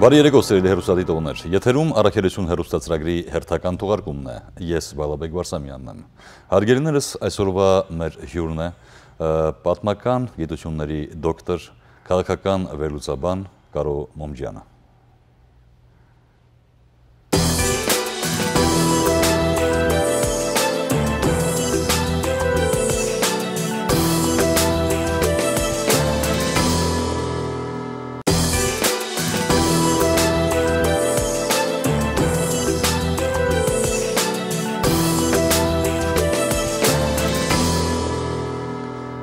Բարի երեկո սիրելի հեռուստադիտողներ, եթերում առաքելություն հեռուստացրագրի հերթական թողարկումն է, ես Բալաբեկ Վարսամյանն եմ։ Հարգելիներս, այսօրվա մեր հյուրն է պատմական գիտությունների դոկտոր, քաղաքական վերլուծաբան Կարո Մոմջյանը։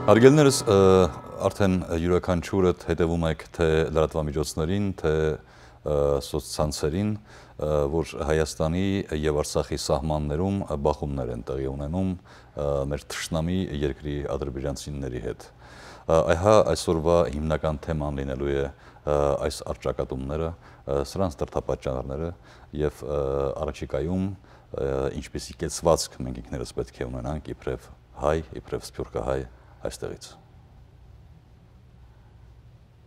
Հարգելիներս, արդեն յուրաքանչյուրդ հետևում եք թե լրատվամիջոցներին, թե սոցցանցերին, որ Հայաստանի և Արցախի սահմաններում բախումներ են տեղի ունենում մեր թշնամի երկրի ադրբեջանցիների հետ։ Այհա այսօրվա հիմնական թեման լինելու է այս առճակատումները, սրանց դրդապատճառները և առաջիկայում ինչպիսի կեցվածք մենք ինքներս պետք է ունենանք իբրև հայ, իբրև սփյուռքահայ այստեղից։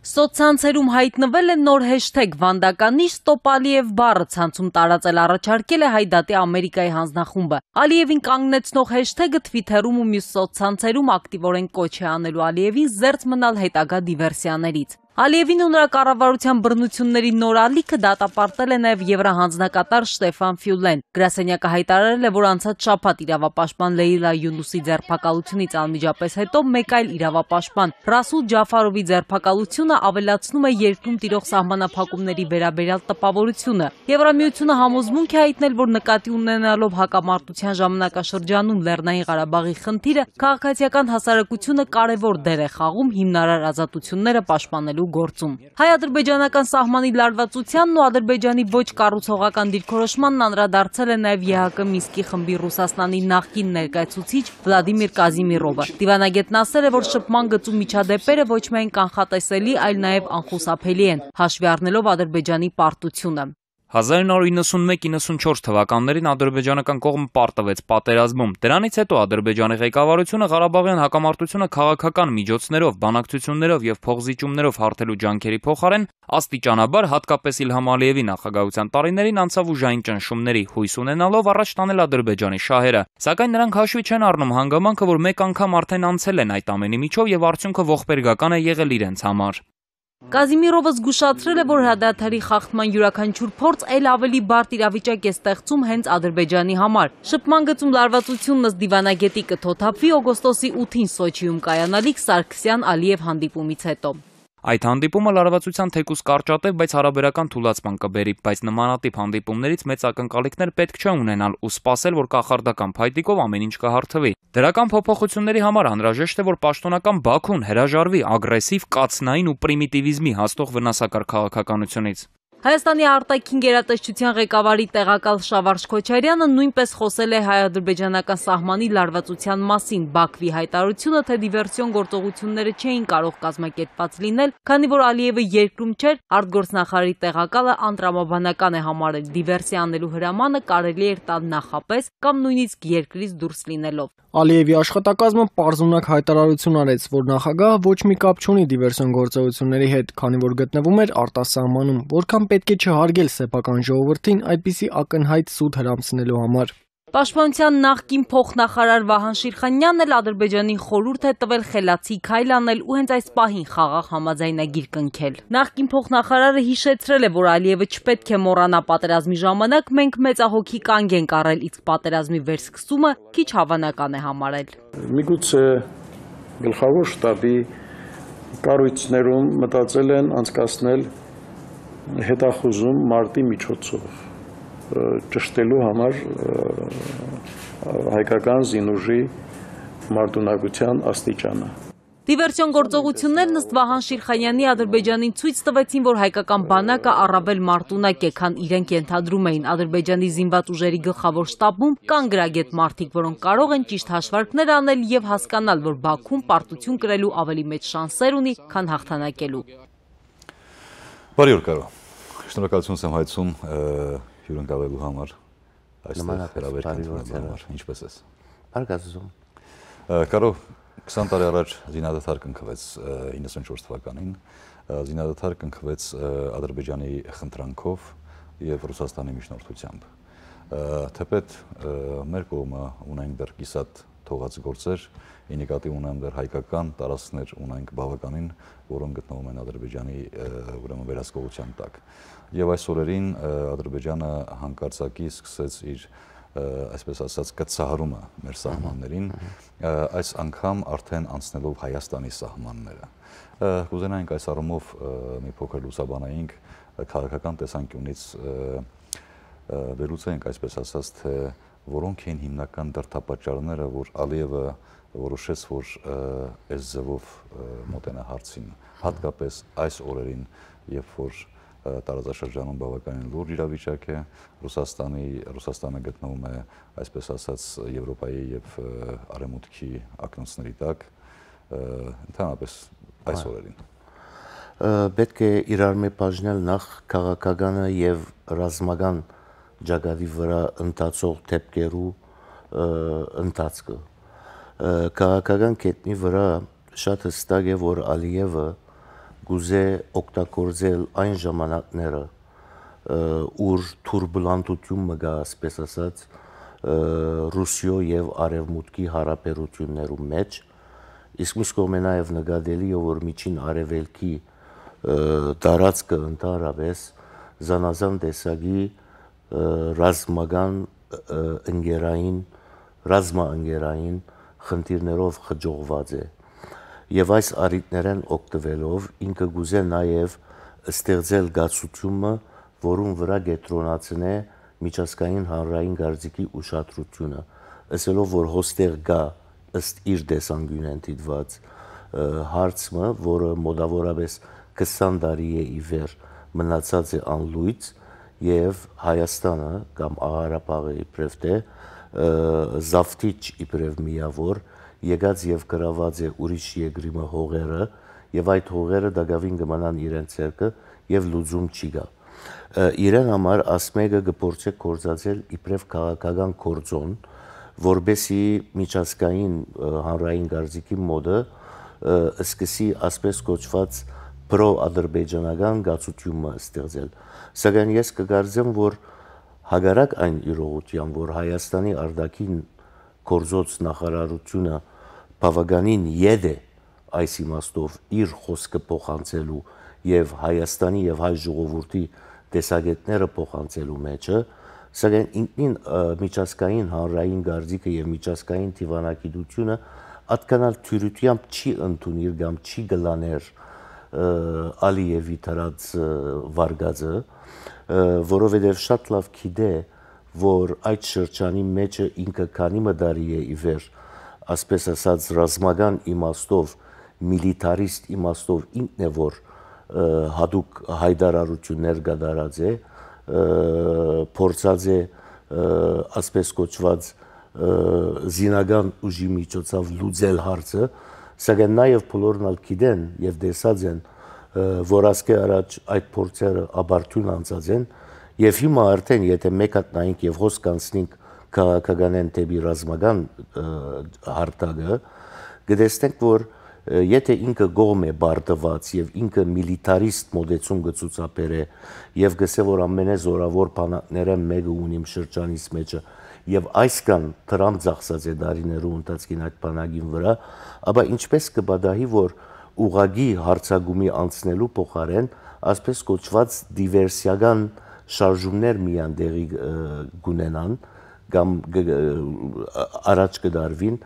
Սոցցանցերում հայտնվել է նոր հեշթեգ «Վանդականիշ Ստոպ Ալիև» բառը ցանցում տարածել առաջարկել է Հայդատի Ամերիկայի հանձնախումբը։ Ալիևին կանգնեցնող հեշթեգը Թվիթերում ու մյուս սոցցանցերում ակտիվորեն կոչ է անել Ալիևին զերծ մնալ հետագա դիվերսիաներից։ Ալիևին ու նրա կառավարության բռնությունների նոր ալիքը դատապարտել է նաև եվրահանձնակատար Շտեֆան Ֆյուլեն։ Գրասենյակը հայտարարել է, որ անցած շաբաթ իրավապաշտպան Լեյլա Յունուսի ձերբակալությունից անմիջապես հետո մեկ այլ իրավապաշտպան Ռասուլ Ջաֆարովի ձերբակալությունը ավելացնում է երկրում տիրող սահմանափակումների վերաբերյալ տպավորությունը։ Եվրամիությունը համոզմունք է հայտնել, որ նկատի ունենալով հակամարտության ժամանակաշրջանում Լեռնային Ղարաբաղի խնդիրը, քաղաքացիական հասարակությունը կարևոր դեր է խաղում հիմնարար ազատությունները պաշտպանելու գործում։ Հայ-ադրբեջանական սահմանի լարվածությանն ու Ադրբեջանի ոչ կառուցողական դիրքորոշմանն անդրադարձել է նաև ԵՀԿ Մինսկի խմբի Ռուսաստանի նախկին ներկայացուցիչ Վլադիմիր Կազիմիրովը։ Դիվանագետն ասել է, որ շփման գծու միջադեպերը ոչ միայն կանխատեսելի, այլ նաև անխուսափելի են, հաշվի առնելով Ադրբեջանի պարտությունը։ 1991-94 թվականներին ադրբեջանական կողմը պարտվեց պատերազմում։ Դրանից հետո Ադրբեջանի ղեկավարությունը Ղարաբաղյան հակամարտությունը քաղաքական միջոցներով, բանակցություններով և փոխզիջումներով հարթելու ջանքերի փոխարեն աստիճանաբար, հատկապես Իլհամ Ալիևի նախագահության տարիներին անցավ ուժային ճնշումների, հույս ունենալով առաջ տանել Ադրբեջանի շահերը։ Սակայն նրանք հաշվի չեն առնում հանգամանքը, որ մեկ անգամ արդեն անցել են այդ ամենի միջով և արդյունքը ողբերգական է եղել իրենց համար։ Կազիմիրովը զգուշացրել է, որ հրադադարի խախտման յուրաքանչյուր փորձ էլ ավելի բարդ իրավիճակ է ստեղծում հենց Ադրբեջանի համար։ Շփման գծում լարվածությունն ըստ դիվանագետի կթոթափվի օգոստոսի 8-ին Սոչիում կայանալիք Սարգսյան-Ալիև հանդիպումից հետո։ Այդ հանդիպումը լարվածության թեկուզ կարճատև, բայց հարաբերական թուլացման կբերի, բայց նմանատիպ հանդիպումներից մեծ ակնկալիքներ պետք չէ ունենալ ու սպասել, որ կախարդական փայտիկով ամեն ինչ կհարթվի։ Դրական փոփոխությունների համար անհրաժեշտ է, որ պաշտոնական Բաքուն հրաժարվի ագրեսիվ, կացնային ու պրիմիտիվիզմի հասնող վնասակար քաղաքականությունից։ Հայաստանի արտաքին գերատեսչության ղեկավարի տեղակալ Շավարժ Քոչարյանը նույնպես խոսել է հայ-ադրբեջանական սահմանի լարվածության մասին։ Բաքվի հայտարարությունը, թե դիվերսիոն գործողությունները չէին կարող կազմակերպված լինել, քանի որ Ալիևը երկրում չէր, արտգործնախարարի տեղակալը անտրամաբանական է համարել դիվերսիա անելու հրամանը կարելի էր տալ նախապես կամ նույնիսկ երկրից դուրս լինելով։ Ալիևի աշխատակազմը պարզունակ հայտարարություն արեց, որ նախագահը ոչ մի կապ չունի դիվերսիոն գործողությունների հետ, քանի որ գտնվում էր արտասահմանում, որքան պետք է չհարգել սեփական ժողովրդին այդպիսի ակնհայտ սուտ հրամցնելու համար։ Պաշտպանության նախկին փոխնախարար Վահան Շիրխանյանն էլ Ադրբեջանին խորհուրդ է տվել խելացի քայլ անել ու հենց այս պահին խաղաղ համաձայնագիր կնքել։ Նախկին փոխնախարարը հիշեցրել է, որ Ալիևը չպետք է մոռանա պատերազմի ժամանակ մենք մեծահոգի կանգ ենք առել, իսկ պատերազմի վերսկսումը քիչ հավանական է համարել։ Միգուցե գլխավոր շտաբի կառույցներում մտածել են անցկացնել հետախուզում մարտի միջոցով ճշտելու համար հայկական զինուժի մարտունակության աստիճանը։ Դիվերսիոն գործողություններն ըստ Վահան Շիրխանյանի Ադրբեջանին ցույց տվեցին, որ հայկական բանակը առավել մարտունակ է, քան իրենք ենթադրում էին։ Ադրբեջանի զինված ուժերի գլխավոր շտաբում կան գրագետ մարդիկ, որոնք կարող են ճիշտ հաշվարկներ անել և հասկանալ, որ Բաքուն պարտություն կրելու ավելի մեծ շանսեր ունի, քան հաղթանակելու։ Բարի օր, Կարո։ Շնորհակալություն եմ հայցում հյուրընկալելու համար, այստեղ հրավերական համար, ինչպես ես։ Բարգազում։ Կարո, 20 տարի առաջ զինադադար կնքվեց 94 թվականին, զինադադար կնքվեց Ադրբեջանի խնդրանքով եւ Ռուսաստանի միջնորդությամբ։ Թեպետ մեր կողմը ունենք դեռ կիսատ թողած գործեր, ի նկատի ունեմ դեռ հայկական տարածքներ ունենք բավականին, որոնք գտնվում են Ադրբեջանի ուրեմն վերահսկողության տակ։ Եվ այս օրերին Ադրբեջանը հանկարծակի սկսեց իր այսպես ասած կցահարումը մեր սահմաններին, այս անգամ արդեն անցնելով Հայաստանի սահմանները։ Կուզենայինք այս առումով մի փոքր լուսաբանայինք քաղաքական տեսանկյունից վերլուծենք այսպես ասած, թե որոնք են հիմնական դրդապատճառները, որ Ալիևը որոշեց, որ այս ձևով մոտենա հարցին, հատկապես այս օրերին, երբ որ տարածաշրջանում բավականին լուրջ իրավիճակ է, Ռուսաստանը գտնվում է, այսպես ասած, Եվրոպայի եւ Արևմուտքի ակնոցների տակ, ընդհանրապես այս օրերին։ Պետք է իրար մեջ բաժնել նախ քաղաքականը եւ ռազմական ճակատի վրա ընթացող դեպքերու ընթացքը։ Քաղաքական կետնի վրա շատ հստակ է, որ Ալիևը գուզե օգտագործել այն ժամանակները, ուր թուրբուլանտություն մգա, ասպես ասած, Ռուսիո եւ Արևմուտքի հարաբերություններու մեջ, իսկ մյուս կողմը նաեւ նկատելի է, որ միջին արևելքի տարածքը ընդհանրապես զանազան տեսակի ռազմաընկերային խնդիրներով խջողված է։ Եվ այս առիթներեն օգտվելով ինքը գուզե նաև ստեղծել գացությունը, որում վրա կենտրոնացնե միջազգային հանրային գործիքի ուշադրությունը, ասելով, որ հոստեղ գա ըստ իր տեսանկյունեն դիտված հարցը, որը մոտավորապես 20 տարի է ի վեր մնացած է անլույծ, եւ Հայաստանը կամ Աղարաբաղը իբրև թե զավթիչ իբրև միավոր եկած եւ գրաված է ուրիշ երկրի հողերը եւ այդ հողերը դակավին կմնան իրենց ցերկը եւ լուծում չի գա։ Իրեն համար ասմեգը գործե կորզածել իբրև քաղաքական կորձոն, որբեսի միջազգային հանրային գործիքի մոդը սկսի ասպես կոչված պրո-ադրբեջանական գացությունը ստեղծել։ Սակայն ես կգարձեմ, որ հագարակ այն իրողության, որ Հայաստանի արտաքին գործոց նախարարությունը բավականին եդ է այս իմաստով իր խոսքը փոխանցելու եւ Հայաստանի եւ հայ ժողովրդի տեսակետները փոխանցելու մեջը, սակայն ինքնին միջազգային հանրային գործիքը եւ միջազգային դիվանագիտությունը ատկանալ թյուրությամբ չի ընդունիր կամ չի գլաներ Ալիևի դրած վարգածը, որովհետեւ շատ լավ գիտե, որ այդ շրջանի մեջը ինքը քանի մդարի է ի վեր, ասպես ասած ռազմական իմաստով, միլիտարիստ իմաստով ինքն է, որ հատուկ հայտարարություններ կատարած է, փորձած է ասպես կոչված զինական ուժի միջոցով լուծել հարցը, սակայն նաև բոլորն ալ գիտեն եւ տեսած են, որ ասկե առաջ այդ փորձերը աբարթուն անցած են եւ հիմա արդեն եթե մեկ հատ նայենք եւ հոս կանցնենք քաղաքականեն դեպի ռազմական հարթակը, կտեսնենք, որ եթե ինքը գոմ է բարտված եւ ինքը միլիտարիստ մոդեցում գծուցապեր է եւ գսե որ ամենազորավոր բանակները մեկը ունիմ շրջանից մեջը եւ այսքան դրամ ծախսած է դարիներու ընթացքին այդ բանակին վրա, ապա ինչպես կբադահի, որ ուղագի հարցագումի անցնելու փոխարեն ասպես կոչված դիվերսիական շարժումներ միան դեղի գունենան կամ առաջ կդարվին,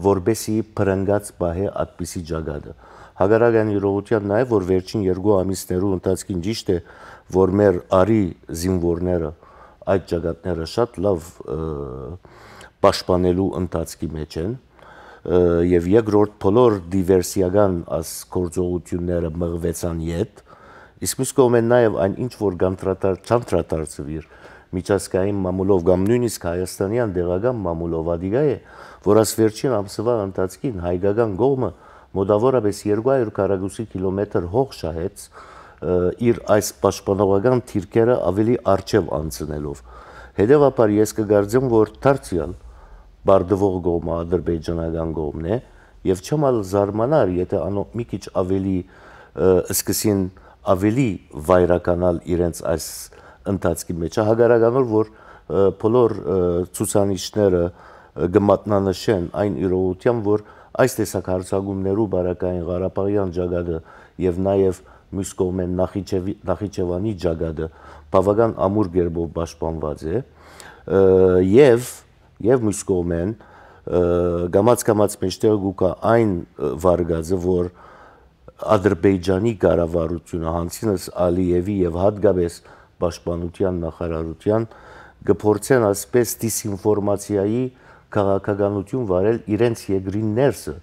որբեսի պրնգած բահե այդպիսի ճակատը։ Հագարական իրողության նաև, որ վերջին 2 ամիսներու ընթացքին ճիշտ է, որ մեր արի զինվորները այդ ճակատները շատ լավ պաշտպանելու ընթացքի մեջ են եւ երկրորդ բոլոր դիվերսիական աս գործողությունները մղվեցան իդ, իսկ մյուս կողմեն նաև այն ինչ որ չանտրատարծվիր միջազգային մամուլով կամ նույնիսկ հայաստանյան դեղական մամուլով ադիգա է, որ աս վերջին ամսվա ընթացքին հայկական կողմը մոտավորապես 200 քառակուսի կիլոմետր հող շահեց իր այս պաշտպանողական թիրքերը ավելի արժև անցնելով։ Հետևաբար ես կգարձեմ, որ դարձյալ բարդվող կողմը ադրբեջանական կողմն է եւ չմալ զարմանար, եթե անոնք մի քիչ ավելի սկսին ավելի վայրականալ իրենց այս ընթացքի մեջ, հագարականոր որ բոլոր ցուցանիշները գմատնանշեն այն իրողությամբ, որ այս տեսակ հարցակումներու բարակային Ղարաբաղյան ջագադը եւ նաեւ մյուս կողմեն Նախիջևանի ջագադը բավական ամուր գերբով պաշտպանված է եւ մյուս կողմեն գամած մեջտեղ գուկա այն վարգածը, որ Ադրբեջանի կառավարությունը հանցինս Ալիևի եւ հատկապես պաշտպանության նախարարության գփորձեն ասպես դիսինֆորմացիայի քաղաքականություն վարել իրենց երկրի ներսը,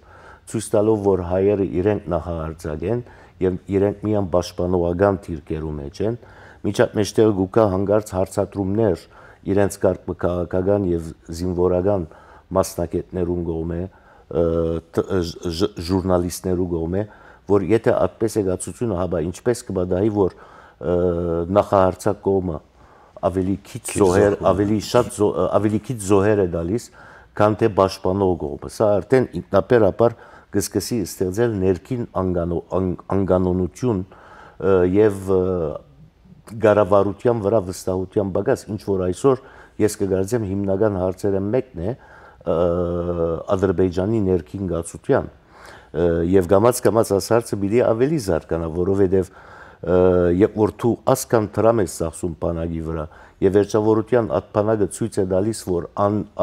ցույց տալով, որ հայերը իրենք նախահարձակ են եւ իրենք միան պաշտպանողական թիրքերու մեջ են, միջատ մեջտեղ գուկա հանգարց հարցատրումներ իրենց քաղաքական եւ զինվորական մասնակիցներուն կողմէ, ժուրնալիստներու կողմէ, որ եթե այդպես է գացությունը, հաբա ինչպես կբադայի, որ նախահարձակ կողմը ավելի քիչ զոհեր է դալիս, քան թե պաշտպանող կողմը։ Սա արդեն ինքնաբերաբար կսկսի ստեղծել ներքին անգանոնություն եւ կառավարության վրա վստահության բագաս, ինչ որ այսօր ես կգարձեմ հիմնական հարցերը մեկն է Ադրբեջանի ներքին գացության եւ գամած այս հարցը պիտի ավելի զարգանա, որովհետեւ երբ որ դու ասկան տրամ ես ծախսում բանակի վրա եւ վերջավորության այդ բանակը ցույց է տալիս, որ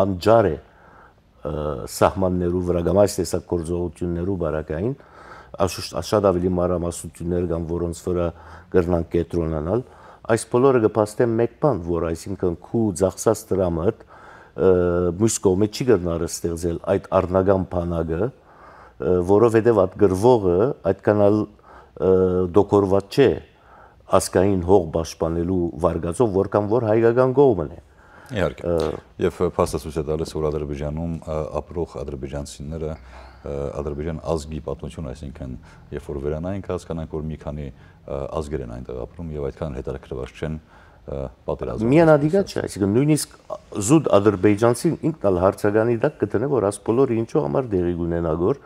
անջար է սահմաններու վրա կամ այս տեսակ գործողություններու բարակային, շատ ավելի մանրամասնություններ կան, որոնց վրա կրնանք կենտրոնանալ, այս բոլորը կփաստեն մեկ բան, որ այսինքն քու ծախսած տրամը մյուս կողմը չի կրնար ստեղծել այդ առնական բանակը, որովհետև այդ գրվողը այդքան դոկորված չէ ասկային հող պաշտպանելու վարգածով, որքան որ հայկական կողմն է։ Իհարկե։ Եվ փաստացույց է տալիս, որ Ադրբեջանում ապրող ադրբեջանցիները Ադրբեջան ազգի պատմություն, այսինքն երբ որ վերանայինք հասկանանք, որ մի քանի ազգեր են այնտեղ ապրում եւ այդքան հետաքրքրված չեն պատերազմում։ Միանադիգա չէ, այսինքն նույնիսկ զուտ ադրբեջանցին ինքն էլ հարցականի դակ կտնե, որ աս բոլորը ինչու համար դեղի կունենա գոր,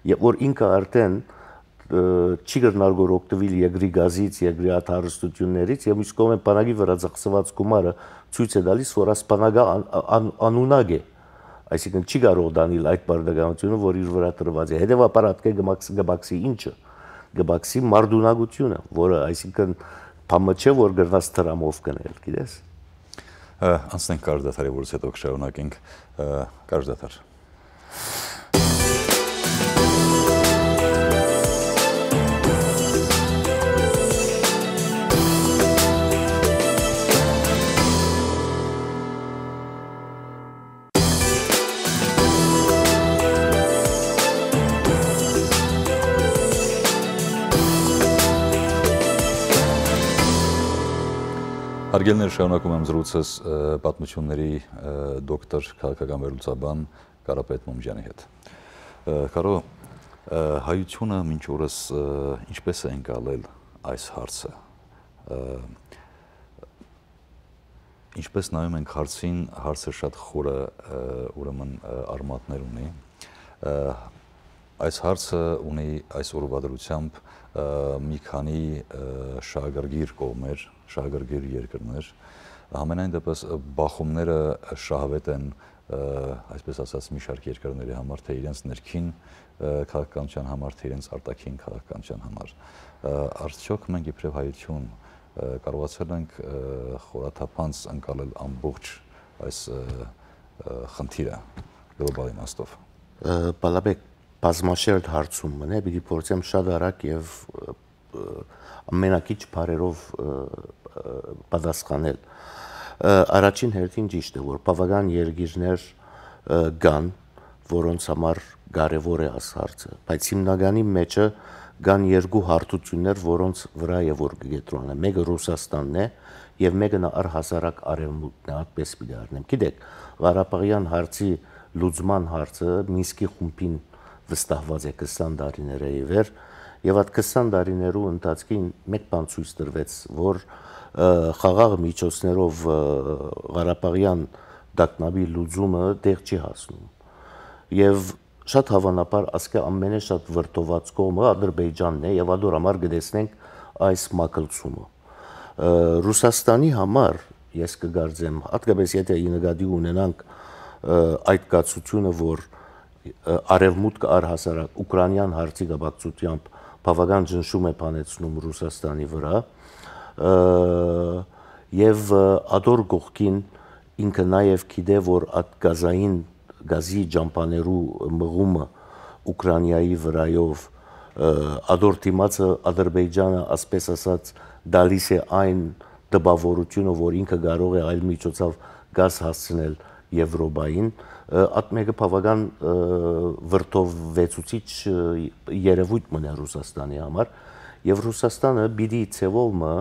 եւ որ ինքը արդեն չի գտնար գոր օգտվել երկրի գազից, երկրի աթարստություններից եւ իսկ կողմեն բանակի վրա ծախսված գումարը ցույց է տալիս, որ աս բանակը անունակ է, այսինքն չի կարող դանել այդ բարդականությունը, որ իր վրա տրված է։ Հետևաբար ատկե գբաքսի ինչը, գբաքսի մարդունակությունը, որը այսինքն բամը չէ, որ գրնաց տրամով կնել, գիտես։ Անցնենք կարճ դադարի, որից հետո կշարունակենք կարճ դադար։ Հարգելներ, շարունակում եմ զրույցս պատմությունների դոկտոր քաղաքական վերլուծաբան Կարապետ Մոմջյանի հետ։ Կարո, հայությունը մինչ օրս ինչպես է ընկալել այս հարցը։ Ինչպես նայում ենք հարցին, հարցը շատ խորը ուրեմն արմատներ ունի։ Այս հարցը ունի այս օրվա դրությամբ մի քանի շահագրգիռ կողմեր, շահագրգիռ երկրներ, համենայն դեպս բախումները շահավետ են, այսպես ասած, մի շարք երկրների համար, թե իրենց ներքին քաղաքականության համար, թե իրենց արտաքին քաղաքականության համար։ Արդյոք մենք իբրև հայություն կարողացել ենք խորաթափանց ընկալել ամբողջ այս խնդիրը գլոբալ իմաստով։ Բալաբեկ, բազմաշերտ հարցում մնե, պիտի փորձեմ շատ արագ եւ ամենակիչ բարերով պատասխանել։ Առաջին հերթին ճիշտ է, որ բավական երկիրներ կան, որոնց համար կարևոր է այս հարցը, բայց հիմնականի մեջը կան երկու հարթություններ, որոնց վրա է որ կգետրոնը։ Մեկը Ռուսաստանն է եւ մեկը առհասարակ Արևմուտքն է, այդպես պիտի առնեմ։ Գիտեք, Ղարաբաղյան հարցի լուծման հարցը Մինսկի խումբին վստահված է 20 տարիներ է իվեր եւ այդ 20 տարիներու ընթացքին մեկ բան ցույց տրվեց, որ խաղաղ միջոցներով Ղարաբաղյան դակնաբի լուծումը դեղ չի հասնում։ Եվ շատ հավանաբար ասկե ամենը շատ վրտոված կողմը Ադրբեջանն է եւ ադոր համար գտեսնենք այս մակլցումը։ Ռուսաստանի համար ես կգարձեմ, հատկապես եթե նկատի ունենանք այդ կացությունը, որ արևմուտքը առհասարակ ուկրաինյան հարցի կապակցությամբ բավական ճնշում է բանեցնում Ռուսաստանի վրա, եւ ադոր գողքին ինքը նաեւ գիտե, որ այդ գազի ջամփաներու մղումը Ուկրաինայի վրայով ադոր դիմացը Ադրբեջանը, ասպես ասած, դալիս է այն դպավորությունը, որ ինքը կարող է այլ միջոցով գազ հասցնել Եվրոպային, այդ մեկը բավական վրդովվեցուցիչ երևույթ մնա Ռուսաստանի համար, եւ Ռուսաստանը պիտի ցեվոմը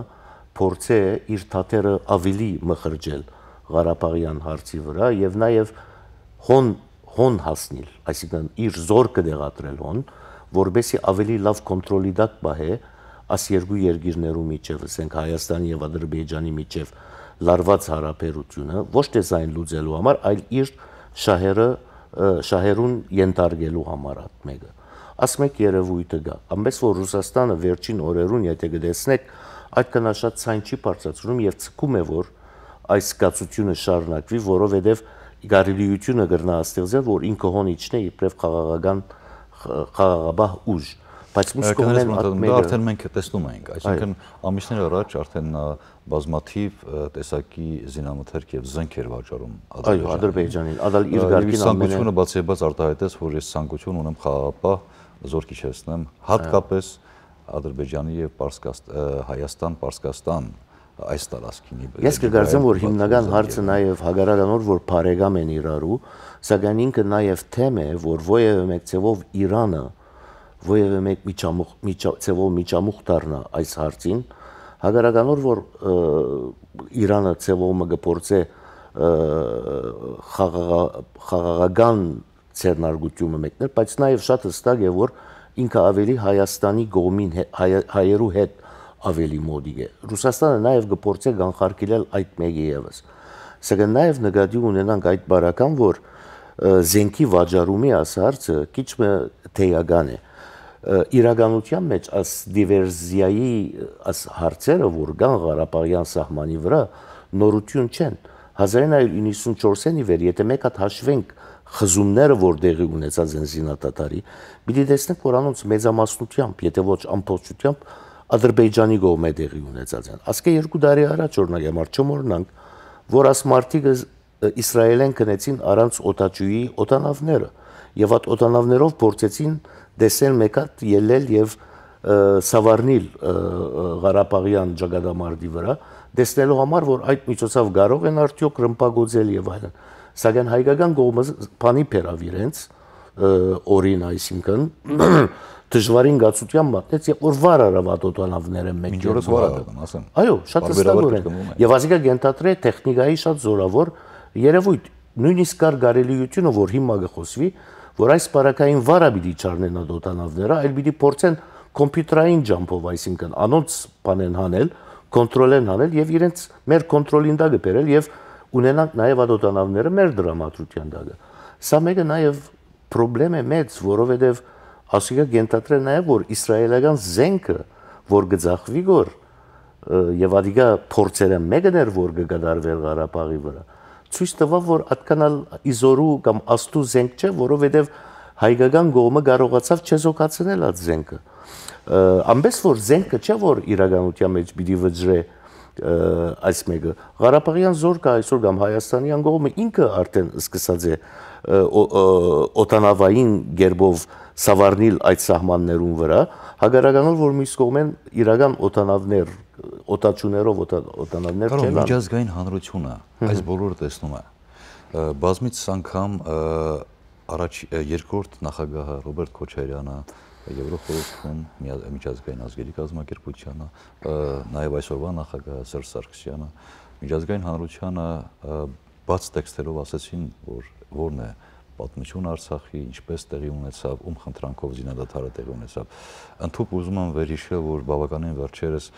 փորձե իր թաթերը ավելի մխրջել Ղարաբաղյան հարցի վրա եւ նաեւ հոն հասնել, այսինքն իր զորքը դեղատրել հոն, որբեսի ավելի լավ կոնտրոլի տակ բահե աս երկու երկիրներու միջև, ասենք Հայաստանի եւ Ադրբեջանի միջև լարված հարաբերությունը, ոչ թե զայն լուծելու համար, այլ իր շահերուն ենթարկելու համար այդ մեկը։ Ասմեք երևույթը գա, ամենից որ Ռուսաստանը վերջին օրերուն, եթե գտեսնեք, այդ կնաշած ցայն չի բարձրացնում եւ ցկում է, որ այս զգացությունը շարունակվի, որովհետեւ գարելիությունը գրնա ստեղծել, որ ինքը հոնիչն է իբրև խաղաղաբահ ուժ, բայց միշտ կողմեն արդեն մենք տեսնում ենք, այսինքն ամիսներ առաջ արդեն բազմաթիվ տեսակի զինամթերք եւ զենքեր վաճառում Ադրբեջանին, ադալ իր գարկին ամենը բացիաբաց արտահայտեց, որ ես ցանկություն ունեմ խաղաղապահ զորք իջեցնեմ, հատկապես Ադրբեջանի եւ Հայաստան-Պարսկաստան այս տարածքինի։ Ես կգարձեմ, որ հիմնական հարցը նաև հագարականոր, որ բարեկամ են իրարու, սակայն ինքը նաև թեմ է, որ ովևէ մեկ ցևով Իրանը, ովևէ մեկ ցևով միջամուխ դառնա այս հարցին, հագարականոր, որ Իրանը ցևովը գործե խաղաղական ցերնարգությունը մեկներ, բայց նաև շատ հստակ է, որ ինքը ավելի Հայաստանի կողմին հայերու հետ ավելի մոդիկ է։ Ռուսաստանը նաև գործե կանխարգելել այդ մեկը եւս։ Սակայն նաև նկատի ունենանք այդ բարական, որ զենքի վաճառումի ասարցը քիչ մը թեյական է։ Իրականության մեջ աս դիվերսիայի աս հարցերը, որ կան Ղարաբաղյան սահմանի վրա, նորություն չեն։ 1994-ի վեր, եթե մեկ հատ հաշվենք խզումները, որ տեղի ունեցած են զինադատարի, պիտի տեսնենք, որ անոնց մեծամասնությամբ, եթե ոչ ամբողջությամբ Ադրբեջանի կողմէ տեղի ունեցած են։ Ասկե 2 տարի առաջ օրինակ համար չմոռնանք, որ աս մարտիկը Իսրայելեն կնեցին առանց օտաչուի օտանավները եւ այդ օտանավներով փորձեցին դեսել մեկ հատ ելել եւ սավառնիլ Ղարաբաղյան ճակատամարտի վրա, դեսնելու համար, որ այդ միջոցով կարող են արդյոք ռմբակոծել եւ այլն։ Սակայն հայկական կողմը բանի բերավ իրենց օրին, այսինքն դժվարին գացության մատնեց, եւ որ վար արավ օտանավները մեկ Մինչորս վար արավ, ասեմ։ Այո, շատ հստակ է։ Եվ ասիկա գենտատրե տեխնիկայի շատ զորավոր երևույթ, նույնիսկ կար կարելիությունը, որ հիմա կխոսվի, որ այս բարակային վարը պիտի չառնեն այդ օտանավները, այլ պիտի փորձեն կոմպյուտերային ջամփով, այսինքն անոնց բանեն հանել, կոնտրոլեն հանել եւ իրենց մեր կոնտրոլին տակ բերել եւ ունենանք նաեւ այդ օտանավները մեր դրամատրության տակ։ Սա մեկը նաեւ խնդրեմ է մեծ, որովհետեւ ասիկա գենտատրե նաեւ որ իսրայելական զենքը, որ գծախվի գոր եւ ադիգա փորձերը մեկն էր, որ կգադարվեր Ղարաբաղի վրա, ցույց տվավ, որ այդքանալ իզորու կամ աստու զենք չէ, որովհետեւ հայկական կողմը կարողացավ չեզոքացնել այդ զենքը։ Ամենից որ զենքը չէ, որ իրականության մեջ պիտի վճռե այս մեկը Ղարաբաղյան զորքը այսօր կամ Հայաստանյան կողմը ինքը արդեն սկսած է օտանավային գերբով սավառնիլ այդ սահմաններուն վրա, հագարականով որ մյուս կողմեն իրական օտանավներ, օտաչուներով օտանավներ չեն։ Միջազգային հանրությունը այս բոլորը տեսնում է։ Բազմից անգամ առաջ երկրորդ նախագահը Ռոբերտ Քոչարյանը, Եվրոխորհրդում միջազգային ազգերի կազմակերպությանը, նաև այսօրվա նախագահը Սերժ Սարգսյանը, միջազգային հանրությանը բաց տեքստերով ասեցին, որ որն է պատմություն Արցախի, ինչպես տեղի ունեցավ, ում խնդրանքով զինադադարը տեղի ունեցավ։ Ընդհանուր ուզում եմ վերհիշել, որ բավականին վերջերս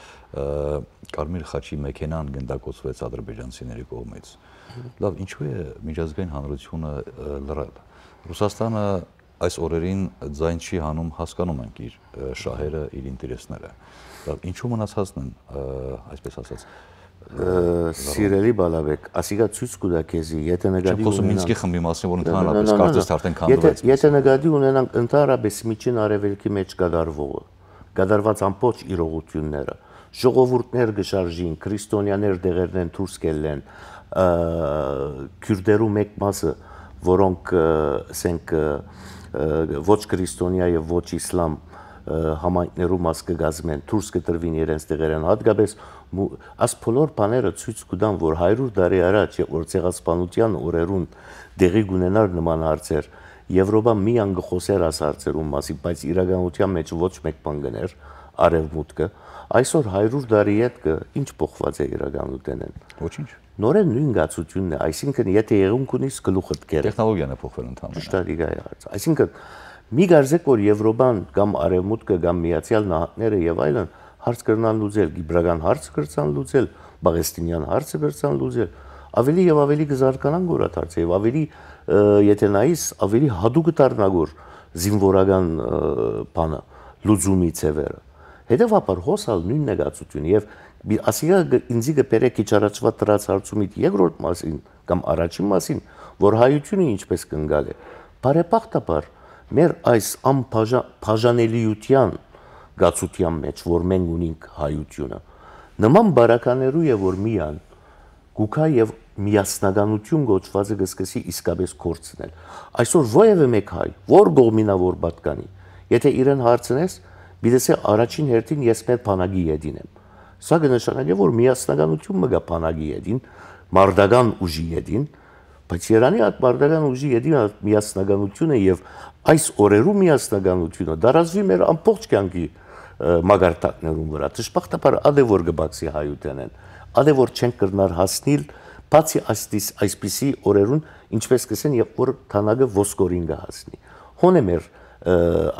Կարմիր խաչի մեքենան գնդակոծվեց ադրբեջանցիների կողմից։ Լավ, ինչու է միջազգային հանրությունը լռել։ Ռուսաստանը այս օրերին ձայն չի հանում, հասկանում ենք իր շահերը, իր ինտերեսները։ Ինչու մնացածն են, այսպես ասած։ Սիրելի Բալաբեկ, ասիկա ցույց կտա քեզի, եթե նկատի ունենանք Մինսկի խմբի մասին, որ ընդհանրապես կարծես թե արդեն քանդվեց։ Եթե նկատի ունենանք ընդհանրապես միջին արևելքի մեջ կատարված ամբողջ իրողությունները, ժողովուրդներ գշարժին, քրիստոնյաներ դեղերն են դուրս կելեն, քյուրդերու մեկ մասը, որոնք ասենք ոչ քրիստոնյա եւ ոչ իսլամ համայնքներու մաս կգազմեն, դուրս կտրվին իրենց տեղերեն, հատկապես այս բոլոր բաները ցույց կտան, որ 100 տարի առաջ, որ ցեղասպանության օրերուն դեղի գունենար նման հարցեր, Եվրոպան միան գխոսեր աս հարցերում մասի, բայց իրականության մեջ ոչ մեկ բան գներ, արևմուտքը, այսօր 100 տարի հետ ինչ փոխված է իրականութենեն։ Ոչինչ։ Նորեն նույն գացությունն է, այսինքն եթե եղունք ունիս գլուխդ կեր։ Տեխնոլոգիան է փոխվել ընդհանրապես։ Շտադիգայի հարց։ Այսինքն մի գարզեք որ Եվրոպան կամ արևմուտքը կամ Միացյալ Նահանգները եւ այլն հարց կրնան լուծել, գիբրական հարց կրցան լուծել, բաղեստինյան հարցը կրցան լուծել, ավելի եւ ավելի կզարգանան գորաթ հարցը եւ ավելի եթե նայես ավելի հadouk դառնագոր զինվորական բանը լուծումի ծևերը։ Հետևաբար հոսալ նույն նեղացություն եւ ասիգա ինձի գբերե քիչ առաջվա դրած հարցումից երկրորդ մասին կամ առաջին մասին, որ հայությունը ինչպես կընկալ է։ Բարեբախտաբար մեր այս անբաժանելիության գացության մեջ, որ մենք ունենք հայությունը, նման բարականերու եւ որ միան գուքա եւ միասնականություն գոչվածը գսկսի իսկապես կորցնել։ Այսօր ովևէ մեկ հայ, որ գողմինավոր պատկանի, եթե իրեն հարցնես, բիդեսե առաջին հերթին ես մեր բանակի յետին եմ։ Սա կնշանակի, որ միասնականություն մգա բանակի յետին, մարդական ուժի յետին, բայց Երանի այդ մարդական ուժի յետին միասնականությունը եւ այս օրերու միասնականությունը դարածվի մեր ամբողջ կյանքի մագարտակներում վրա։ Դժբախտաբար ադե որ գբացի հայութենեն, ադե որ չեն կրնար հասնել բացի այսպիսի օրերուն, ինչպես կսեն, երբ որ թանագը ոսկորին կհասնի։ Հոն է մեր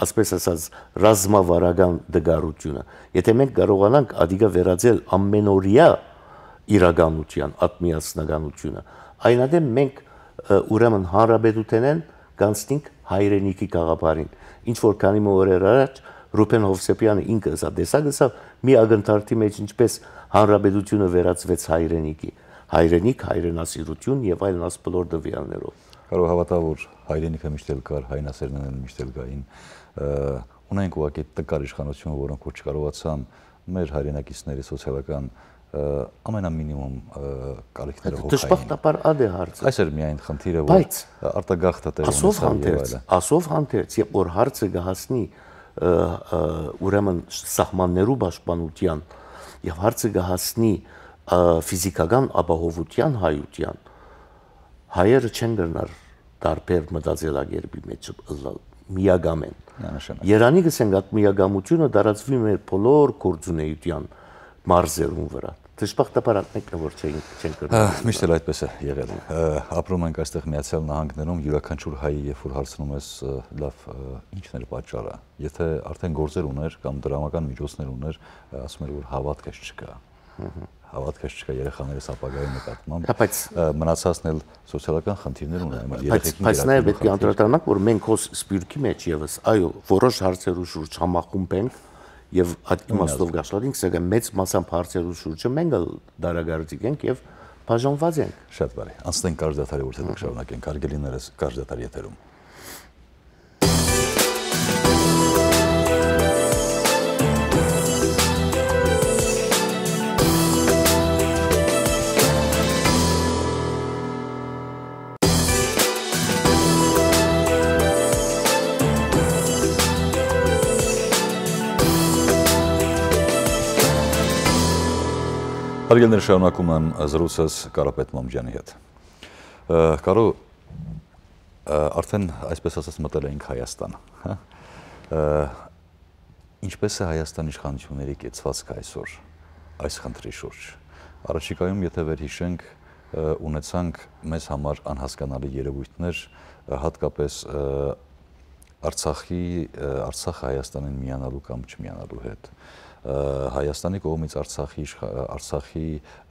ասպես ասած ռազմավարական դգարությունը։ Եթե մենք կարողանանք ադիգա վերածել ամենօրյա իրականության ատմիասնականությունը, այնադեմ մենք ուրեմն հանրապետութենեն կանցնենք հայրենիքի գաղափարին։ Ինչ որ քանի օրեր առաջ Ռուբեն Հովսեփյանը ինքը սա տեսագսավ մի ակնթարթի մեջ ինչպես հանրապետությունը վերածվեց հայրենիքի, հայրենիք, հայրենասիրություն եւ այլն աս բոլոր դվյալներով։ Կարող հավատալ, որ հայրենիքը միշտ էլ կար, հայնասերներն միշտ էլ կային, ունենք ուղղակի տկար իշխանություն, որոնք որ չկարողացան մեր հայրենակիցների սոցիալական ամենամինիմում կարիքները հոգային։ Դժբախտաբար ադե հարցը։ Այս էր միայն խնդիրը, որ արտագաղթը տեղ ունեցավ։ Ասով հանդերձ, երբ որ հարցը կհասնի ուրեմն սահմաններու պաշտպանության եւ հարցը կհասնի ֆիզիկական ապահովության հայության, հայերը չեն գնար տարբեր մտածելակերպի մեջ միագամ են։ Երանի գսենք այդ միագամությունը դարածվի մեր բոլոր գործունեության մարզերուն վրա։ Դժբախտաբար մեկը որ չեն կրում։ Միշտ էլ այդպես է եղել։ Ապրում ենք այստեղ Միացյալ Նահանգներում, յուրաքանչյուր հայ, երբ որ հարցնում ես լավ, ինչն էր պատճառը։ Եթե արդեն գործեր ուներ կամ դրամական միջոցներ ուներ, ասում էր որ հավատքս չկա։ Հավատքս չկա երեխաներս ապագայի նկատմամբ, բայց մնացածն էլ սոցիալական խնդիրներ ունեն, երեխեքին։ Բայց նաև պետք է անդրադառնանք, որ մենք հոս սպիրկի մեջ եւս, այո, որոշ հարցերու շուրջ համախումբ ենք եւ այդ իմաստով գաշարինք, սակայն մեծ մասամբ հարցերու շուրջը մենք դարագարձիկ ենք եւ բաժանված ենք։ Շատ բարի։ Անցնենք կարճ դադարի, որ դեռ շարունակենք։ Հարգելիներս, կարճ դադար եթերում։ Հարգելիներ, շարունակում եմ զրույցս Կարապետ Մամջյանի հետ։ Կարո արդեն այսպես ասած մտել էինք Հայաստան, հա։ Ինչպես է Հայաստան իշխանությունների կեցվածքը այսօր այս խնդրի շուրջ։ Առաջիկայում եթե վերհիշենք, ունեցանք մեզ համար անհասկանալի երևույթներ, հատկապես Արցախը Հայաստանին միանալու կամ չմիանալու հետ։ Հայաստանի կողմից Արցախի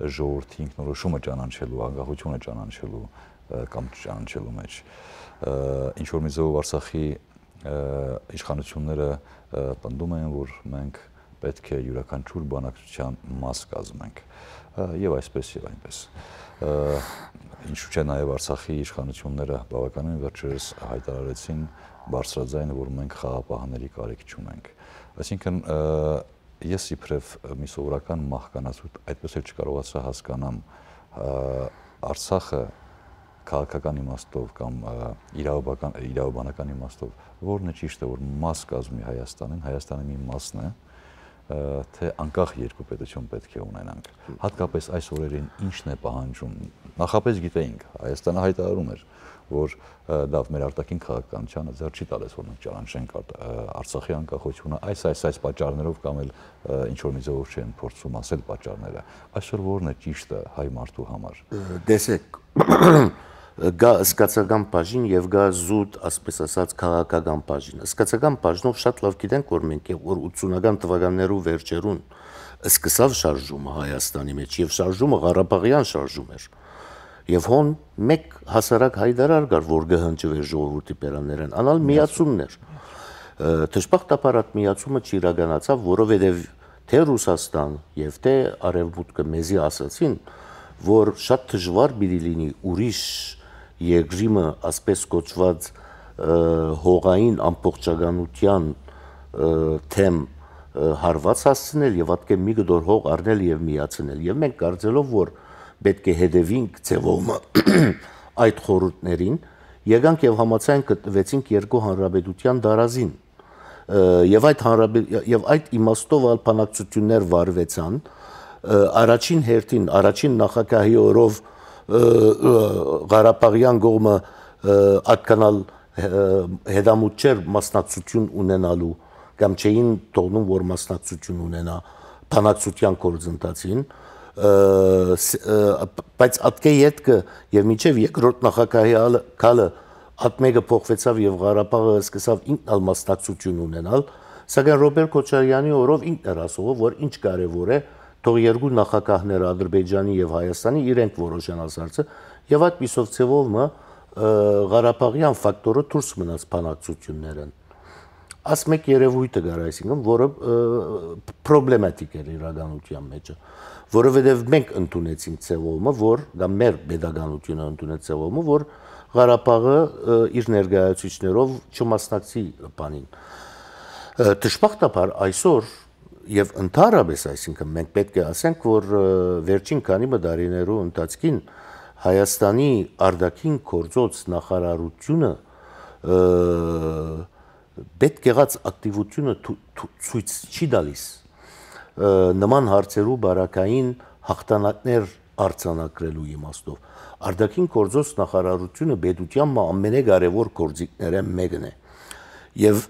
ժողովրդի ինքնորոշումը ճանաչելու, անկախությունը ճանաչելու կամ չճանաչելու մեջ ինչ որ մի ձևով Արցախի իշխանությունները պնդում են, որ մենք պետք է յուրաքանչյուր բանակցության մաս կազմենք, եւ այսպես եւ այնպես։ Ինչու՞ չէ նաև Արցախի իշխանությունները բավականին վերջերս հայտարարեցին բարձրաձայն, որ մենք խաղապահների կարիք չունենք։ Այսինքն ես իբրև մի սովորական մահկանացու այդպես էլ չկարողացա հասկանամ Արցախը քաղաքական իմաստով կամ իրավաբանական իմաստով որն է ճիշտը, որ մաս կազմի Հայաստանի մի մասն է, թե անկախ երկու պետություն պետք է ունենանք։ Հատկապես այս օրերին ինչն է պահանջում։ Նախապես գիտեինք, Հայաստանը հայտարարում էր, որ դա մեր արտաքին քաղաքականությանը ձեռ չի տալիս, որ մենք ճանաչենք Արցախի անկախությունը այս պատճառներով կամ էլ ինչ որ մի ձևով չեն փորձում ասել պատճառները։ Այսօր որն է ճիշտը հայ մարդու համար։ Տեսեք, գա սկացական բաժին եւ գա զուտ, ասպես ասած, քաղաքական բաժին։ Սկացական բաժնով շատ լավ գիտենք, որ մենք որ 80-ական թվականներու վերջերուն սկսավ շարժումը Հայաստանի մեջ եւ շարժումը Ղարաբաղյան շարժում էր։ Եվ հոն մեկ հասարակ հայտարար կար, որ գհնջվեր ժողովրդի պերաններեն, անալ միացումներ։ Դժբախտաբար այդ միացումը չիրականացավ, որովհետև թե Ռուսաստան եւ թե Արևմուտքը մեզի ասացին, որ շատ դժվար պիտի լինի ուրիշ երկրիմը, ասպես կոչված հողային ամբողջականության թեմ հարված հասցնել եւ ատկե մի գդոր հող առնել եւ միացնել։ Եվ մենք կարծելով, որ պետք է հետևենք ձևովը այդ խորհուրդներին, եկանք եւ համաձայն գտնվեցինք երկու հանրապետության դարազին եւ այդ իմաստով բանակցություններ վարվեցան առաջին հերթին առաջին նախագահի օրով Ղարաբաղյան կողմը ատկանալ հետամուտ չէր մասնակցություն ունենալու կամ չէին թողնում, որ մասնակցություն ունենա բանակցության գործընթացին, բայց ատկե ետքը եւ մինչեւ երկրորդ նախագահի քալը ատմեգը փոխվեցավ եւ Ղարաբաղը սկսավ ինքն մասնակցություն ունենալ, սակայն Ռոբերտ Քոչարյանի օրով ինքն էր ասում, որ ինչ կարեւոր է թող երկու նախագահները Ադրբեջանի եւ Հայաստանի իրենք որոշեն ասարցը եւ այդ պիսով ցևով Ղարաբաղյան ֆակտորը դուրս մնաց բանակցություններն։ Աս մեկ երևույթը գար, այսինքն, որը պրոբլեմատիկ էր իրականության մեջ, որովհետև մենք ընդունեցինք ցևոմը, որ կամ մեր pedagogiությունը ընդունեց ցևոմը, որ Ղարաբաղը իր ներկայացուցիչներով չմասնակցի բանին։ Դժբախտաբար այսօր եւ ընդհանրապես, այսինքն, մենք պետք է ասենք, որ վերջին քանի տարիներու ընթացքին Հայաստանի արտաքին գործոց նախարարությունը պետք եղած ակտիվությունը ցույց չի տալիս նման հարցերու բարակային հաղթանակներ արձանագրելու իմաստով։ Արտաքին գործոց նախարարությունը պետության ամենակարևոր գործիքները մեկն է։ Եվ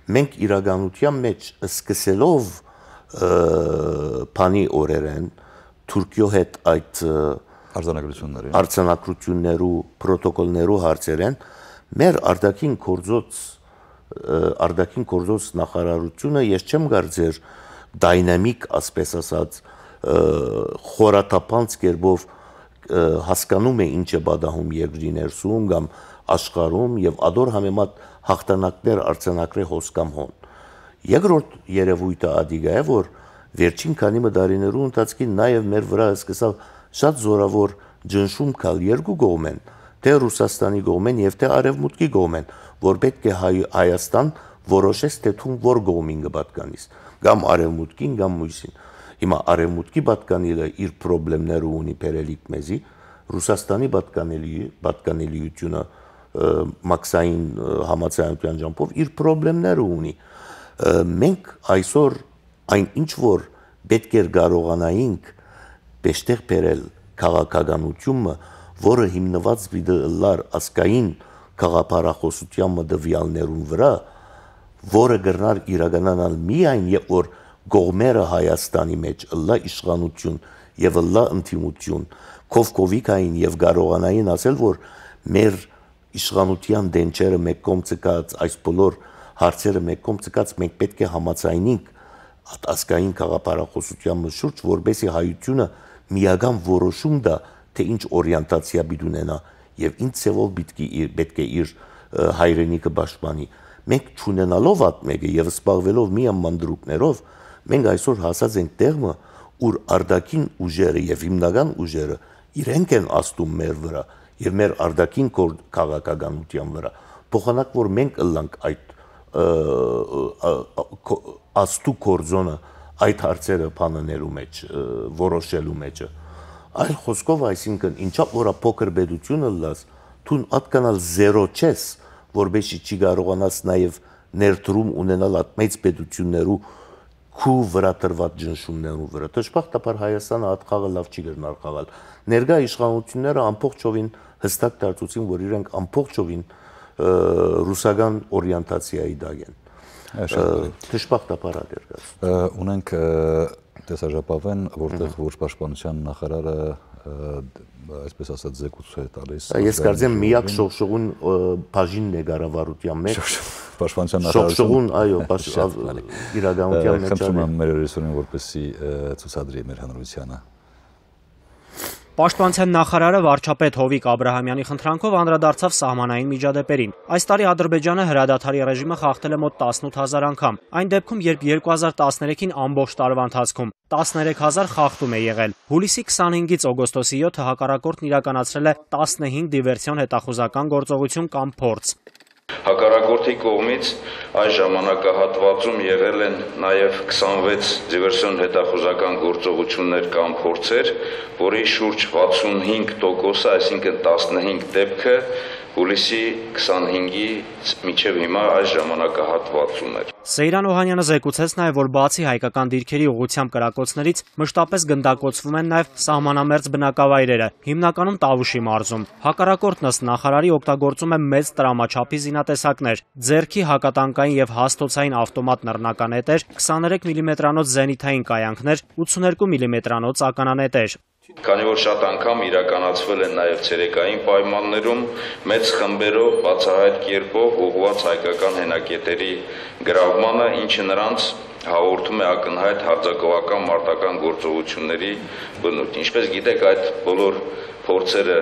մենք իրականության մեջ սկսելով բանի օրերեն Թուրքիո հետ այդ արձանագրություններու պրոտոկոլներու հարցերեն մեր արտաքին գործոց նախարարությունը ես չեմ կարծեր դայնամիկ, ասպես ասած, խորաթափանց կերպով հասկանում է ինչ է պատահում երկրի ներսում կամ աշխարհում եւ ադոր համեմատ հաղթանակներ արձանագրե հոսքամ հոն։ Երկրորդ երևույթը ադիգա է, որ վերջին քանի տարիներու ընթացքին նաեւ մեր վրա սկսավ շատ զորավոր ջնշում կալ երկու կողմեն, թե Ռուսաստանի կողմեն եւ թե Արևմուտքի կողմեն, որ պետք է Հայաստան որոշես թե թուն որ կողմին կպատկանիս, կամ Արևմուտքին կամ մյուսին։ Հիմա Արևմուտքի պատկանելը իր խնդիրները ունի բերելիք մեզի, Ռուսաստանի պատկանելիությունը մաքսային համաձայնության ճամփով իր խնդիրները ունի։ Մենք այսօր այն ինչ որ պետք է կարողանայինք բեշտեղ բերել քաղաքականությունը, որը հիմնված վիդելար ասկային քաղաքապարախոսության մտվյալներուն վրա, որը գրնար իրականանալ միայն երբ որ գողմերը Հայաստանի մեջ լա իշխանություն եւ լա ընդդիմություն կովկովիկային եւ կարողանային ասել, որ մեր իշխանության դենչերը մեկ կողմ ցկած, այս բոլոր հարցերը մեկ կողմ ցկած, մենք պետք է համաձայնենք ասկային քաղաքապարախոսության շուրջ, որբեսի հայությունը միական որոշում դա, թե ինչ օրիենտացիա պիտի ունենա եւ ինչ ցևով պետք է իր հայրենիքը պաշտպանի։ մենք չունենալով այդ մեկը եւ սպառվելով մի ամանդրուկներով, մենք այսօր հասած ենք տեղը, ուր արտաքին ուժերը եւ հիմնական ուժերը իրենք են աստում մեր վրա եւ մեր արտաքին քաղաքականության վրա, փոխանակ որ մենք ըլլանք այդ աստու կորձոնը այդ հարցերը բանաներու մեջ, որոշելու մեջ։ Այլ խոսքով, այսինքն, ինչա որ փոքր պետությունը լաս, դու ատկանալ 0 չես, որբեսի չի կարողանաս նաև ներդրում ունենալ այդ մեծ պետություններու քու վրա տրված ճնշումներու վրա։ Դժբախտաբար Հայաստանը այդ խաղը լավ չի գնալ խաղալ։ Ներկա իշխանությունները ամբողջովին հստակ դարձուցին, որ իրենք ամբողջովին ռուսական օրիենտացիայի դակ են։ Դժբախտաբար ադերգաց։ Ունենք տեսաժապավեն, որտեղ ոչ պաշտպանության նախարարը այսպես ասած զեկույց է տալիս։ Ես կարծեմ միակ շողշողուն բաժինն է կառավարության մեջ։ Պաշտպանության նախարարությունը, շողշողուն, այո, իրականության մեջ։ Խնդրում եմ մեր ռեսուրսին, որպեսզի ցուցադրի մեր հանրությանը։ Պաշտպանության նախարարը վարչապետ Հովիկ Աբրահամյանի խնդրանքով անդրադարձավ սահմանային միջադեպերին։ Այս տարի Ադրբեջանը հրադադարի ռեժիմը խախտել է մոտ 18000 անգամ։ Այն դեպքում, երբ 2013-ին ամբողջ տարվա ընթացքում 13000 խախտում է եղել։ Հուլիսի 25-ից օգոստոսի 7-ը հակառակորդն իրականացրել է 15 դիվերսիոն հետախուզական գործողություն կամ փորձ։ Հակառակորդի կողմից այս ժամանակահատվածում եղել են նաև 26 դիվերսիոն հետախուզական գործողություններ կամ փորձեր, որի շուրջ 65%-ը, այսինքն 15 դեպքը հուլիսի 25-ից մինչև հիմա այս ժամանակահատվածում էր։ Սեյրան Օհանյանը զեկուցեց նաև, որ բացի հայկական դիրքերի ուղղությամբ կրակոցներից մշտապես գնդակոծվում են նաև սահմանամերձ բնակավայրերը, հիմնականում Տավուշի մարզում։ Հակառակորդն ըստ նախարարի օգտագործում է մեծ տրամաչափի զինատեսակներ, ձեռքի հակատանկային եւ հաստոցային ավտոմատ նռնականետեր, 23 մմ-անոց զենիթային կայանքներ, 82 մմ-անոց ականանետեր։ Քանի որ շատ անգամ իրականացվել են նաև ցերեկային պայմաններում մեծ խմբերով բացահայտ կերպով ուղղված հայկական հենակետերի գրավմանը, ինչը նրանց հաղորդում է ակնհայտ հարձակողական մարտական գործողությունների բնույթ։ Ինչպես գիտեք, այդ բոլոր փորձերը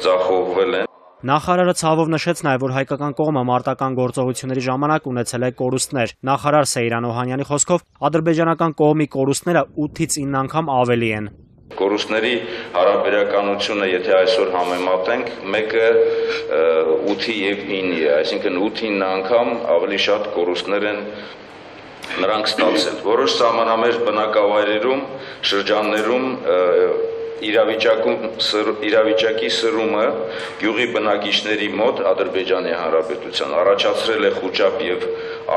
ձախողվել են։ Նախարարը ցավով նշեց նաև, որ հայկական կողմը մարտական գործողությունների ժամանակ ունեցել է կորուստներ։ Նախարար Սեյրան Օհանյանի խոսքով ադրբեջանական կողմի կորուստները 8-ից 9 անգամ ավելի են։ Կորուստների հարաբերականությունը, եթե այսօր համեմատենք, մեկը 8-ի եւ 9-ի է, այսինքն 8-9 անգամ ավելի շատ կորուստներ են նրանք ստացել։ Որոշ սահմանամերձ բնակավայրերում, շրջաններում իրավիճակի սրումը գյուղի բնակիչների մոտ Ադրբեջանի Հանրապետության առաջացրել է խուճապ եւ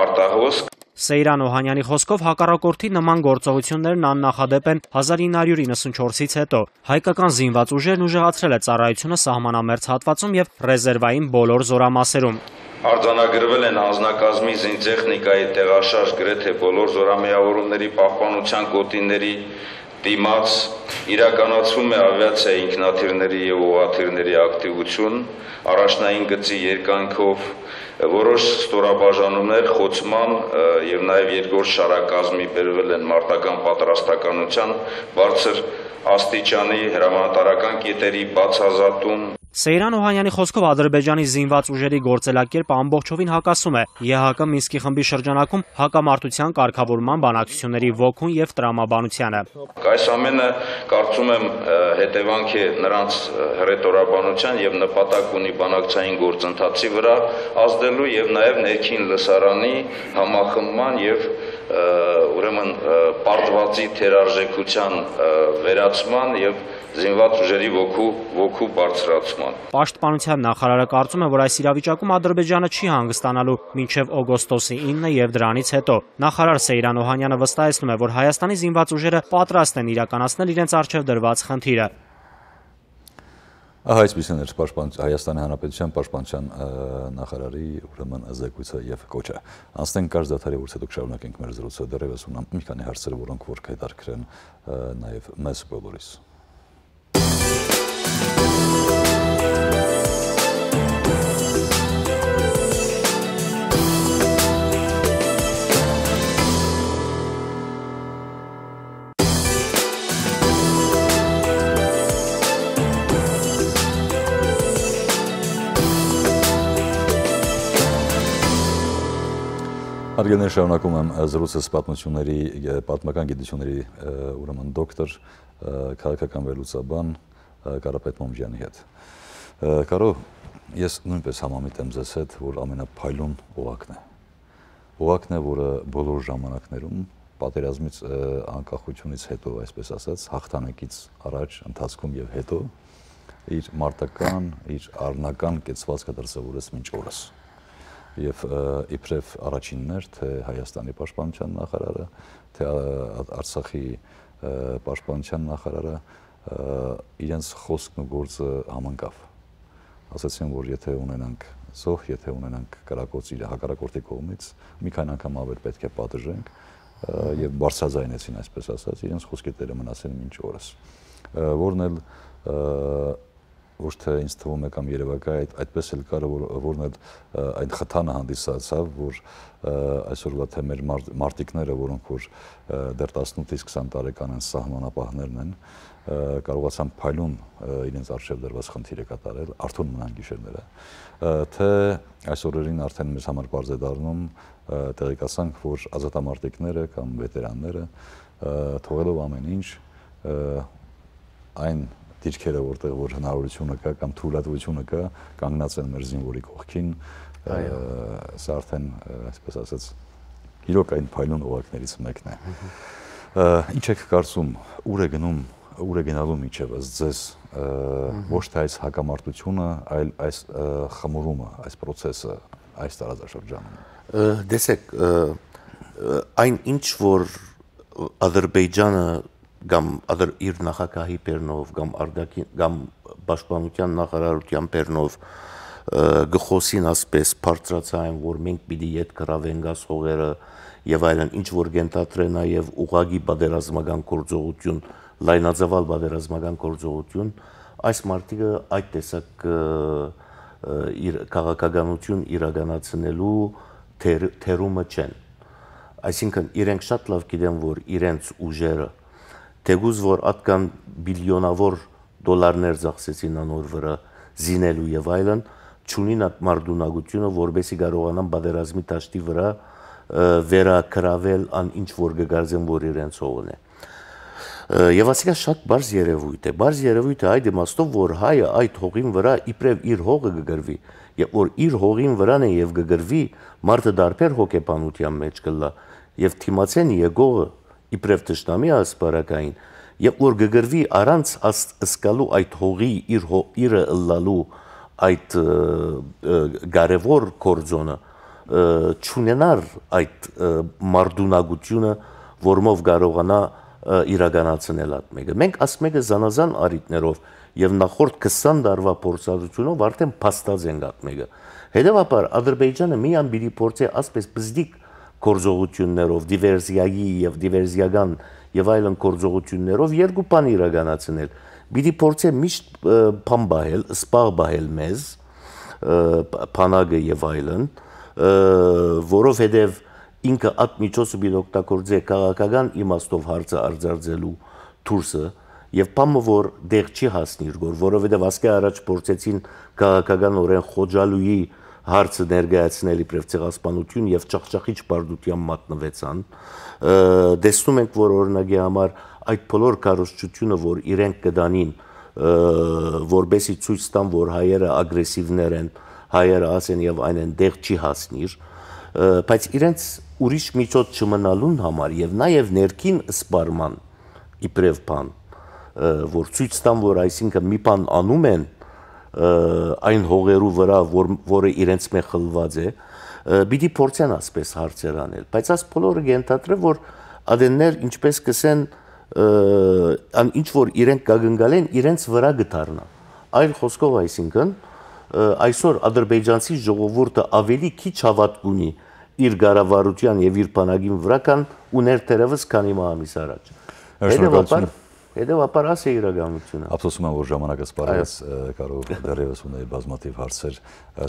արտահոսք։ Սեյրան Օհանյանի խոսքով հակառակորդի նման գործողություններն աննախադեպ են 1994-ից հետո։ Հայկական զինված ուժերն ուժեղացրել է ծառայությունը սահմանամերձ հատվածում եւ ռեզերվային բոլոր զորամասերում։ Արձանագրվել են անձնակազմի զինտեխնիկայի տեղաշարժ գրեթե բոլոր զորամիավորումների պահպանության գոտիների դիմաց, իրականացվում է ավիացիա ինքնաթիռների եւ ուղղաթիռների ակտիվություն, առաջնային գծի երկայնքով որոշ ստորաբաժանումներ խոցման եւ նաեւ երկրորդ շարակազմի բերվել են մարտական պատրաստականության բարձր աստիճանի հրամանատարական կետերի բացազատում։ Սեյրան Օհանյանի խոսքով Ադրբեջանի զինված ուժերի գործելակերպը ամբողջովին հակասում է ԵՀԿ Մինսկի խմբի շրջանակում հակամարտության կարգավորման բանակցությունների ոգուն եւ տրամաբանությանը։ Այս ամենը կարծում եմ հետևանք է նրանց հռետորաբանության եւ նպատակ ունի բանակցային գործընթացի վրա ազդելու եւ նաեւ ներքին լսարանի համախմբման եւ ուրեմն պարտվածի թերարժեքության վերացման եւ զինված ուժերի ոգու բարձրացման։ Պաշտպանության նախարարը կարծում է, որ այս իրավիճակում Ադրբեջանը չի հանգստանալու մինչև օգոստոսի 9-ը եւ դրանից հետո։ Նախարար Սեյրան Օհանյանը վստահեցնում է, որ Հայաստանի զինված ուժերը պատրաստ են իրականացնել իրենց առջև դրված խնդիրը։ Ահա այսպիսին էր Հայաստանի Հանրապետության պաշտպանության նախարարի ուրեմն զեկույցը եւ կոչը։ Անցնենք կարճ դադարի, որից հետո կշարունակենք մեր զրույցը։ Դեռևս ունեմ մի քանի հարցեր, որոնք որ կհետաքրքրեն նաեւ մեզ բոլորիս։ Հարգելիներ, շարունակում եմ զրույցս պատմական գիտությունների ուրեմն դոկտոր, քաղաքական վերլուծաբան Կարապետ Մոմջյանի հետ։ Կարո, ես նույնպես համամիտ եմ ձեզ հետ, որ ամենափայլուն օղակն է։ Օղակն է, որը բոլոր ժամանակներում պատերազմից անկախությունից հետո, այսպես ասած, հաղթանակից առաջ, ընթացքում եւ հետո իր մարտական, իր առնական կեցվածքը դրսևորեց մինչ օրս։ Եվ իբրև առաջիններ, թե Հայաստանի պաշտպանության նախարարը, թե Արցախի պաշտպանության նախարարը իրենց խոսքն ու գործը համընկավ։ Ասացին, որ եթե ունենանք զոհ, եթե ունենանք կրակոց իր հակառակորդի կողմից, մի քանի անգամ ավելի պետք է պատժենք եւ բարձրաձայնեցին, այսպես ասած, իրենց խոսքի տերը մնացել մինչ օրս։ Որն էլ ոչ թե ինձ թվում է կամ երևակայ այդպես էլ կար, որն էլ այն խթանը հանդիսացավ, որ այսօրվա թե մեր մարտիկները, որոնք որ դեռ 18-ից 20 տարեկան են, սահմանապահներն են, կարողացան փայլուն իրենց արժև դրված խնդիրը կատարել, արթուն մնան գիշերները, թե այս օրերին արդեն մեզ համար բարձ է դառնում, տեղեկացանք, որ ազատամարտիկները կամ վետերանները թողելով ամեն ինչ այն դիրքերը, որտեղ որ հնարավորությունը կա կամ թույլատվությունը կա, կանգնած են մեր զինվորի կողքին, սա արդեն, այսպես ասած, իրոք այն փայլուն օղակներից մեկն է։ Ինչ եք կարծում, ուր է գնում, ուր է գնալու միջևս ձեզ, ոչ թե այս հակամարտությունը, այլ այս խմորումը, այս process-ը, այս տարածաշրջանում։ Տեսեք, այն ինչ որ Ադրբեջանը կամ իր նախագահի բեռնով կամ պաշտպանության նախարարության բեռնով գխոսին ասպես բարձրացային, որ մենք պիտի ետ գրավենք այս հողերը եւ այլն, ինչ որ գենտատրե նաեւ ուղագի պատերազմական գործողություն, լայնածավալ պատերազմական գործողություն, այս մարտիկը այդ տեսակ իր քաղաքականություն իրականացնելու թերումը չեն։ Այսինքն իրենք շատ լավ գիտեն, որ իրենց ուժերը Թեգուզ որ ատկան բիլիոնավոր դոլարներ ծախսեցին անոր վրա զինելու եւ այլն, չունին այդ մարդունակությունը, որբեսի կարողանան պատերազմի դաշտի վրա վերակրավել ան ինչ որ գգարձեն, որ իրենց հողն է։ Եվ ասիկա շատ բարձ երևույթ է։ Բարձ երևույթ է այդ իմաստով, որ հայը այդ հողին վրա իբրև իր հողը կգրվի, եւ որ իր հողին վրան է եւ կգրվի, մարդը դարբեր հոգեբանության մեջ կլա եւ թիմացեն եկողը իբրև տշնամի ասպարակային, եւ որ գգրվի առանց ասկալու այդ հողի իրը ըլլալու այդ կարևոր կորձոնը չունենար այդ մարդունակությունը, որմով կարողանա իրականացնել այդ մեկը։ Մենք ասում ենք զանազան արիտներով եւ նախորդ 20 տարվա փորձառությունով արդեն փաստած ենք այդ մեկը։ Հետևաբար Ադրբեջանը միան պիտի փորձի ասպես բզդիկ գործողություններով, դիվերսիայի եւ դիվերսիական եւ այլն գործողություններով երկու բան իրականացնել։ Պիտի փորձի միշտ բան բահել, սպաղ բահել մեզ, բանակը եւ այլն, որովհետեւ ինքը այդ միջոցը պիտի օգտագործի քաղաքական իմաստով հարցը արձարծելու դուրսը եւ բամը որ դեղ չի հասնի, որովհետեւ ասկա առաջ փորձեցին քաղաքական օրեն խոջալուի հարցը ներկայացնել իբրև ցեղասպանություն եւ ճախճախիչ բարդության մատնվեցան։ Տեսնում ենք, որ օրինակի համար այդ բոլոր կարողությունը, որ իրենք կդանին, որբեսի ցույց տան, որ հայերը ագրեսիվներ են, հայերը ասեն եւ այնեն դեղ չի հասնիր, բայց իրենց ուրիշ միջոց չմնալուն համար եւ նաեւ ներքին սպարման իբրև բան, որ ցույց տան, որ այսինքն մի բան անում են այն հողերու վրա, որը իրենց մե խլված է, պիտի փորձեն ասպես հարցեր անել, բայց այս բոլորը գենտատրե, որ ադեններ ինչպես կսեն, ինչ որ իրենք կագնգալ են, իրենց վրա գտարնա։ Այլ խոսքով այսինքն, այսօր ադրբեջանցի ժողովուրդը ավելի քիչ հավատ ունի իր գարավարության եւ իր բանակին վրա կան ուներ թերևս քանի ամիս առաջ։ Հետևաբար ասե իրականությունը։ Ափսոսում եմ, որ ժամանակը սպառեց, կարող դեռևս ունեի բազմաթիվ հարցեր,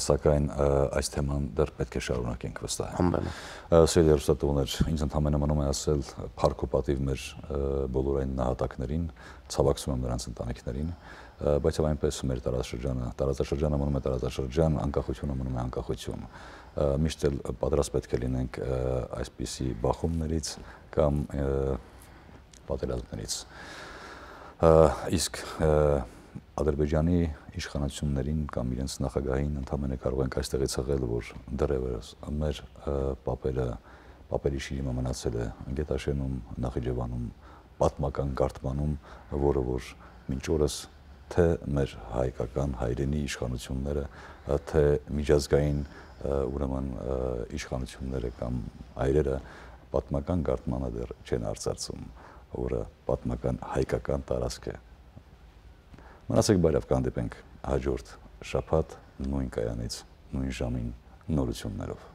սակայն այս թեման դեռ պետք է շարունակենք վստահ եմ։ Սիրելի հեռուստատողներ, ինձ ընդհանրապես մնում է ասել փառք ու պատիվ մեր բոլոր այն նահատակներին, ցավակցում եմ նրանց ընտանիքներին, բայց այնպես մեր տարածաշրջանը մնում է տարածաշրջան, անկախությունը մնում է անկախություն։ Միշտ էլ պատրաստ պետք է լինենք այսպիսի բախումներից կամ պատերազմներից։ Իսկ Ադրբեջանի իշխանություններին կամ իրենց նախագահին ընդհանրապես կարող ենք այստեղից հղել, որ դեռևս մեր պապերի շիրիմը մնացել է Գետաշենում, Նախիջևանում, պատմական գարտմանում, որը որ մինչ օրս թե մեր հայկական հայրենի իշխանությունները, թե միջազգային ուրեմն իշխանությունները կամ այրերը պատմական գարտմանը դեռ չեն արծարծում, որը պատմական հայկական տարածք է։ Մնացեք բարև, կհանդիպենք հաջորդ շաբաթ նույն կայանից, նույն ժամին նորություններով։